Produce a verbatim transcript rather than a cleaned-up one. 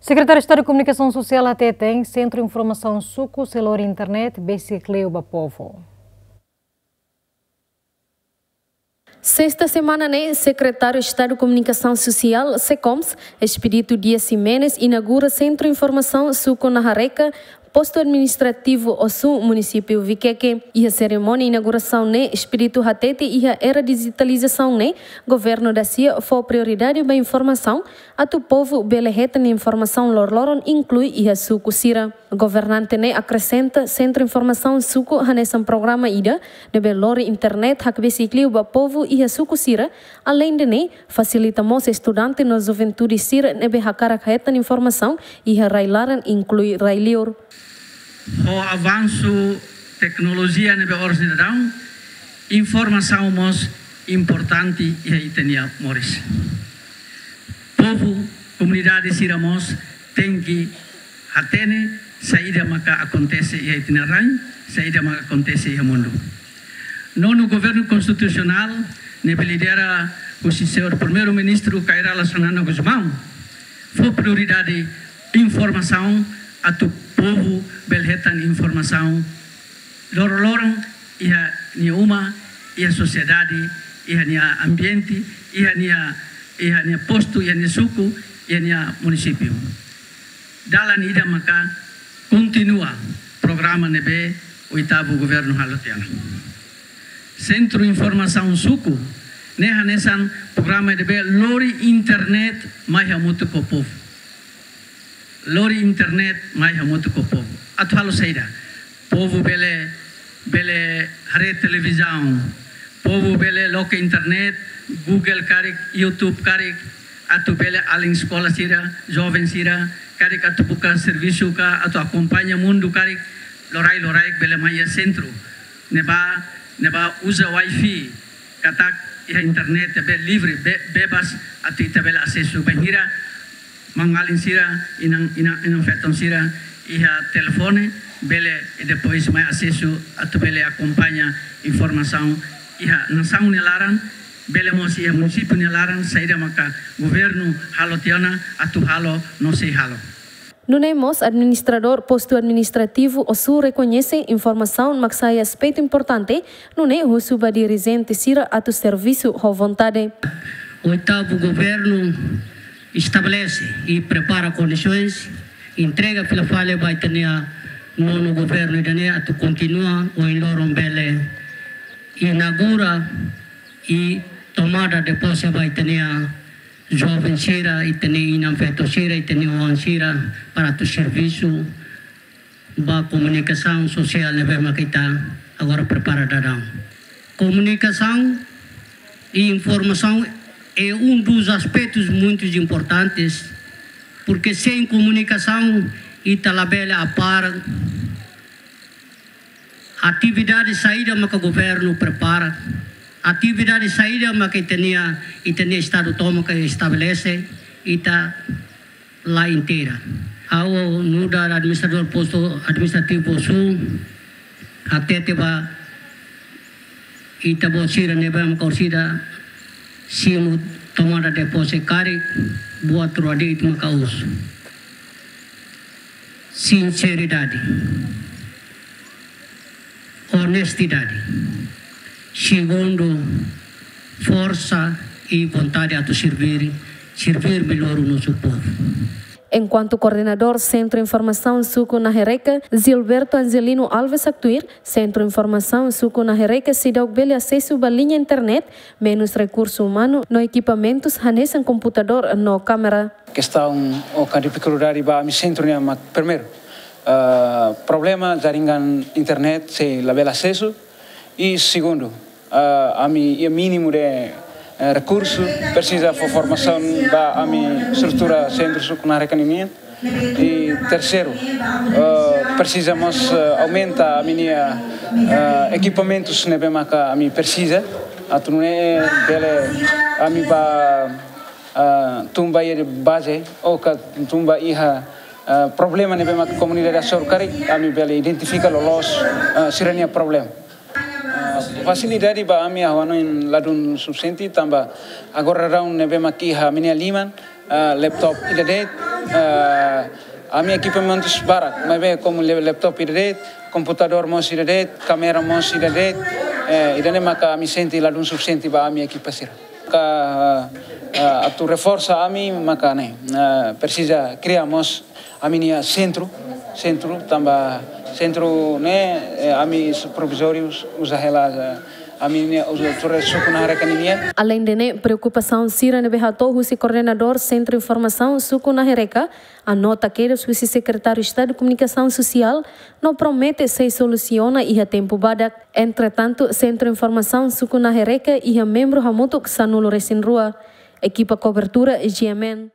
Sekretáriu Estadu Komunikasaun Sosiál hateten, Sentru Informasaun Suku sei lori internet besik liu ba povu. Sesta semana ne'e, Sekretáriu Estadu Komunikasaun Sosiál, SEKOMS, Expedito Dias Ximenes, inaugura Sentru Informasaun Suku Nahareka, Postu Administrativu Osu, Munisípiu Vikeke. Iha serimónia inaugurasaun ne'e, Expedito hatete iha era dijitalizasaun ne'e, governu dasia fó prioridade ba informasaun, atu povu bele hetan informasaun loroloron, inklui iha suku sira. Governante ne'e akresenta Sentru Informasaun Suku hanesan programa ida ne'ebé lori internet hakbesik liu ba povu iha suku sira, aleinde ne'e, fasilita mós estudante no juventude sira ne'ebé hakarak hetan informasaun iha rai-laran, inklui rai-liur. Ho avansu teknolojia ne'ebé oras ne'e daudaun, informasaun mós importante iha ita-nia moris. Povu, komunidade sira mós tenke hatene saida maka akontese iha ita-nia rain, saida maka akontese iha mundu. Nonu Governu Konstitusionál, ne'ebé lidera husi Señór Primeiru-Ministru Kay Rala Xanana Gusmão, fó prioridade informasaun, atu povu bele hetan informasaun loroloron iha nia uma, iha sosiedade, iha nia ambiente, iha nia, iha nia postu, iha nia suku, iha nia munisípiu. Dalan ida maka kontinua programa ne'ebé oitavu governu halo tiha ona. Sentru Informasaun Suku ne'e hanesan programa ne'ebé lori internet mai hamutuk ho povu. Lori internet mai hamutuk ho povu. Atu halo saida? Povu bele, bele haree televizaun. Povu bele loke internet, Google karik, YouTube karik, atu bele alin eskola sira, joven sira, karik atu buka servisu ka, atu akompaña mundu karik, loraik-loraik bele mai iha sentru. Ne'ebá, ne'ebá uza wifi, katak iha internet be livre, be-, bebas, atu ita bele asesu bainhira maun-alin sira, inan, inan, inan-feton sira iha telefone, bele, i depois mai asesu atu bele akompaña informasaun iha nasaun nia laran, bele mós iha munisípiu nia laran, saida maka governu halo tiha ona, atu halo no sei halo. Nune'e mós, Administradór Postu Administrativu Osu rekoñese informasaun mak sai aspetu importante, nune'e husu ba dirijente sira atu servisu ho vontade. Oitavu governu estabelese i prepara kondisoens, entrega fila fali ba ita-nia nonu governu ida-ne'e atu kontinua ohin loron bele inaugura i tomada de pose ba ita-nia joven sira, ita-nia inan-feton sira, ita-nia oan sira, para atu servisu ba komunikasaun sosiál ne'ebé maka ita agora prepara daudaun. Komunikasaun i informasaun é um dos aspectos muito importantes, porque sem comunicação ita labele apara atividade saida maka governu prepara, atividade saida maka ita-nia, ita-nia estadu tomak estabelese, ita la inteira. Ha'u nu'udar administradór postu administrativu Osu, hatete ba ita-boot sira ne'ebé maka orsida simu tomada de pose karik, buat rua de'it maka husu. Sinseridade. Onestidade. Segundu, forsa i vontade atu servir, servir melhor o nosso povo. Enkuantu koordenadór Sentru Informasaun Suku Nahereka, Gilberto Angelino Alves haktuir, Sentru Informasaun Suku Nahereka seidauk bele asesu ba liña internet, menus rekursu umanu no ekipamentus hanesan komputadór no kámera. Kestaun ou ka difikuldade ba ami sentru nian mak primeiru, ah, problema jaringan internet sei labele asesu. I segundu, ah, ami iha mínimu de, eh, rekursu, presiza fó formasaun ba ami estrutura Sentru Suku Nahereka ninian. I terseiru, eh, presiza mós, eh, aumenta ami-nia, eh, ekipamentus ne'ebé maka ami presiza. Atu nune'e bele ami bá, eh, tun ba iha baze, ou ka tun ba iha, eh, problema ne'ebé maka komunidade hasoru karik, ami bele identifika loloos, eh, sira-nia problema. Ah, fasilidade ba ami ha'u hanoin ladún sufisiente tanba agora daudaun ne'ebé mak iha ami-nia liman, ah, laptop ida de'it, Eh, ami ekipamentus barak, maibé komu le-, laptop ida de'it, komputadór mós ida de'it, kámera mós ida de'it, eh, ida-ne'e maka ami sente ladún sufisiente ba ami ekipa sira. Ka, eh, atu reforsa ami maka ne'e, eh, presiza kria mós ami-nia sentru, sentru tanba sentru ne'e, eh, ami su-, provizóriu uza hela, eh, ami-nia uza tuir suku Nahereka nian. Aleinde ne'e, preokupasaun sira ne'ebé hato'o husi koordenadór Sentru Informasaun Suku Nahereka, anota kedas husi Sekretáriu Estadu Komunikasaun Sosiál, no promete sei solusiona iha tempu badak. Entretantu, Sentru Informasaun Suku Nahereka iha membru hamutuk sanulu-resin-rua. Ekipa kobertura G M N.